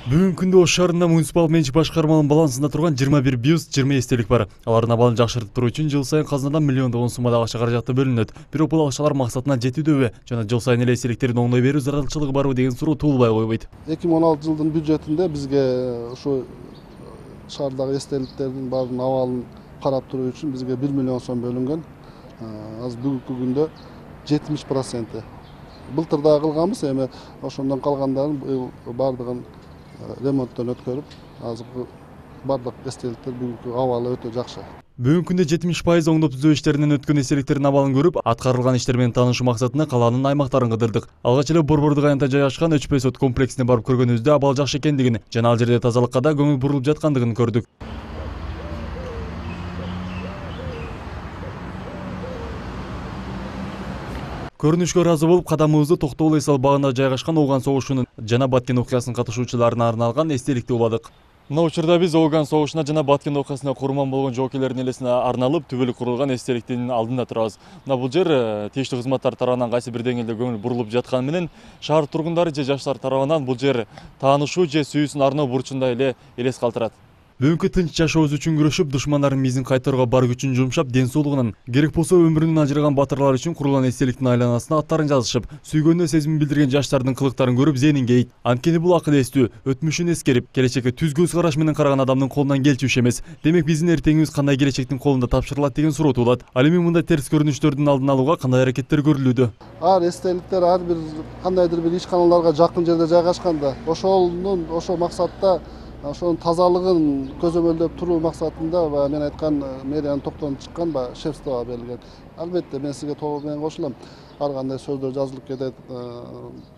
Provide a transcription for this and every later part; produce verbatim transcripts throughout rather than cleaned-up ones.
Бүгүнкү күндө Ош шаарында муниципал менчик башкарманын балансында турган жыйырма бир бюст, жыйырма эстелик бар. Алардын абалын жакшыртып туруу үчүн жыл сайын казынадан миллиондогон суммада акча каражаты бөлүнөт. Бирок бул акчалар максатына жетүүдөбү жана жыл сайын эле эстеликтердин оңдой берүү зарылчылыгы барбы деген суроо туулбай койбойт. эки миң он алты жылдын бюджетинде бизге ушу шаардагы эстеликтердин баардыгынын абалын карап туруу үчүн бизге бир миллион сом бөлүнгөн. Азыр бүгүнкү күндө жетимиш проценти. Былтыр да кылганбыз, эми ошондон калгандарын баардыгын ремонттон өткөрүп, азыркы бардык эстеликтер бүгүнкү абалы өтө жакшы. Бүгүнкү күндө жетимиш пайыз оңдоп түзөө иштеринен өткөн эстеликтердин абалын көрүп, аткарылган иштер менен таанышуу максатында калаанын аймактарын кыдырдык. Алгач эле Борбордук аянтта жайгашкан Өчпөй сот комплексине барып көргөнүбүздө абал жакшы экендигин жана ал жерде тазалыкка да көңүл бурулуп жаткандыгын көрдүк. Көрүнүшкө ыраазы болуп, кадамыбызды Токтогул эс ал багында жайгашкан Ооган согушунун жана Баткен окуясынын катышуучуларына арналган эстеликти уладык. Мына учурда биз Ооган согушуна жана Баткен окуясына курман болгон жоокейлердин элесине арналып түбөлүк курулган эстеликтин алдында турабыз. Мына бул жер тийиштүү кызматтар тарабынан кайсы бир деңгээлде көңүл бурулуп жатканы менен шаар тургундары же жаштар тарабынан бул жер таанышуу же сүйүүсүн арноо бурчундай эле элес калтырат. Бүгүнкү тынч жашообуз үчүн күрөшүп, душмандардын мизин кайтарууга бар күчүн жумшап, ден соолугунан, керек болсо өмүрүнөн ажыраган батырлар үчүн курулган эстеликтин айланасына аттарын жазышып, сүйгөнүнө сезимин билдирген жаштардын кылыктарын көрүп зээнин кейийт. Анткени бул акыл эстүү, өтмүшүн эскерип, келечекке түз көз караш менен караган адамдын колунан келчү иш эмес. Демек биздин эртеңибиз кандай келечектин колунда тапшырылат деген суроо туулат. Ал эми мындай терс көрүнүштөрдүн алдын алууга кандай аракеттер көрүлүүдө? Ар эстеликтер ар бир кандайдыр бир ишканаларга жакын жерде жайгашкан да. Ошонун ошол максатта ошонун тазалыгын көзөмөлдөп туруу максатында баягы мен айткан мэриянын токтомун чыккан баягы шефство берилген. Албетте мен сизге толук менен кошулам. Ар кандай сөздөр жазылып кетет.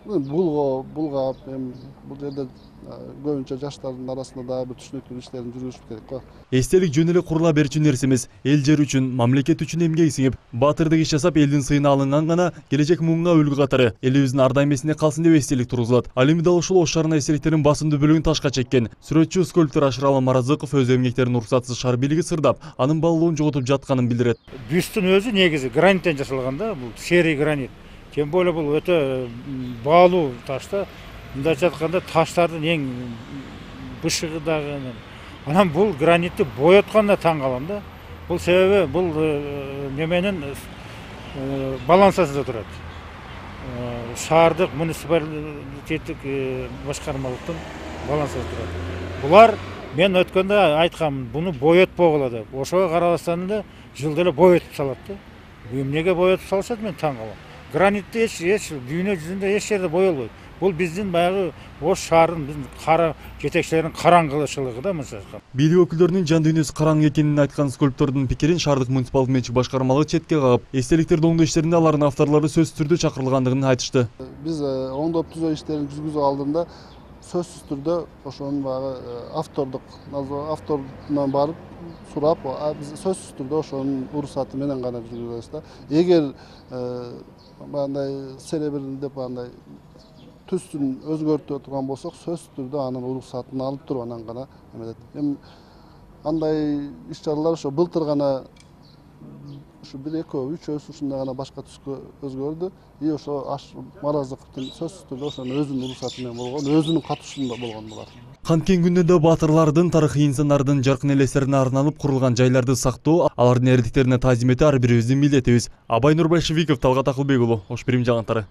Булго, булгап, эми бул жерде көбүнчө жаштардын арасында дагы бир түшүнүктүү иштерин жүргүзүш керек го. Эстелик жөн эле курула берчү нерсе эмес, эл жер үчүн, мамлекет үчүн эмгек сиңип, баатырдык иш жасап, элдин сыйына алынган гана келечек муңга үлгү катары элибиздин ар дайым эсинде калсын деп эстелик тургузулат. Ал эми дал ушул Ош шаарына эстеликтердин басымдуу бөлүгүн ташка чеккен. Сүрөтчү скульптор Ашыралы Маразыков өз эмгектерин уруксатсыз шаар бийлиги сырдап, анын баалуулугун жоготуп жатканын билдирет. Бюсттун өзү негизи граниттен жасалган да, бул серый гранит. Тем более бул өтө баалуу таш да. Мындайча айтканда таштардын эң бышыгы дагы. Анан бул гранитти боятканда таң калам да. Бул себеби бул неменин балансасында турат. Шаардык муниципалитеттик башкармалыктын балансасында турат. Булар мен өткөндө айткам, буну боятпогула деп. Ошого карабастан эле жылда эле боятып салат да. Бу эмнеге боятып салышат, мен таң калам. Гранитти эч эч дүйнө жүзүндө эч жерде боелбойт. Бул биздин баягы Ош шаарынын биздин кара жетекчилеринин караңгылычылыгы да мынча. Бийлик өкүлдөрүнүн жан дүйнөсү караңгы экенин айткан скульптордун пикирин шаардык муниципалдык менчик башкармалыгы четке кагып, эстеликтерди оңдоо иштеринде алардын авторлору сөзсүз түрдө чакырылгандыгын айтышты. Биз оңдоп түзөө иштерин жүргүзүү алдында сөзсүз түрдө ошонун баягы автордук авторунан барып сурап, биз сөзсүз түрдө ошонун уруксаты менен гана жүргүзөбүз да. Эгер мындай серебрин деп андай түстүн өзгөртө турган болсок, сөзсүз түрдө анын уруксатын алып туруп анан гана эметет. Эми андай иш чаралар ошо былтыр гана ушу бир экөө үчөөсү ушундай гана башка түскө өзгөрдү. И ошо Маразыковдун сөзсүз түрдө ошонун өзүнүн уруксаты менен болгон, өзүнүн катышуусунда болгон булар. Канткен күндө батырлардын, тарыхый инсандардын жаркын элестерине арналып курулган жайларды сактоо, алардын эрдиктерине таазим этүү ар бирибиздин милдетибиз. Абай Нурбайшевиков, Талгат Акылбек уулу, Ош Бирим жаңылыктары.